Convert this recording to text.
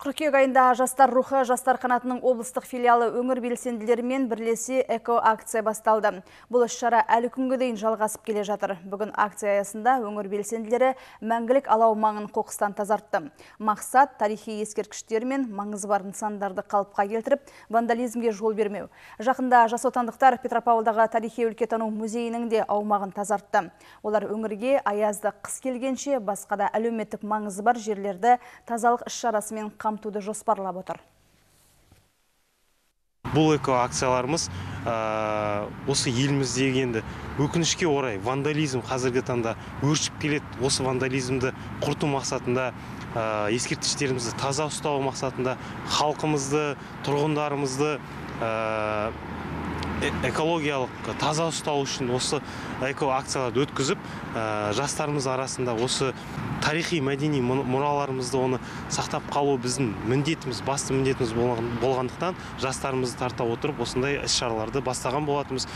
Қыркүйек айында жастар рухы жастар қанатының облыстық филиалы өңір белсенділерімен бірлесе эко-акция басталды. Бұл іс-шара әлі күнге дейін жалғасып келе жатыр. Бүгін акция аясында өңір белсенділері мәңгілік алау маңын қоқыстан тазартты. Мақсат тарихи ескерткіштер мен маңызы бар нысандарды қалыпқа келтіріп, вандализмге жол бермеу. Жақында жас отандықтар Петропавлдағы тарихи өлкетану музейінің де аумағын тазартты. Олар өңірге аязды қыс келгенше басқа да әлеуметтік маңызы бар жерлерді тазалық іс-шарасымен қамтуды жоспарлап отыр. Бұл эко-акцияларымыз осы еліміздегі енді өкінішке орай вандализм қазіргі таңда өршіп келеді. Осы вандализмді құрту мақсатында, ескерткіштерімізді таза ұстау мақсатында халқымызды, тұрғындарымызды экологиялық таза ұстау үшін осы эко-акцияларды өткізіп, жастарымыз арасында осы тарихи мәдени мұраларымызды оны сақтап қалу біздің міндетіміз, басты міндетіміз болғандықтан жастарымызды тарта отырып осындай іс-шараларды бастаған болатынбыз.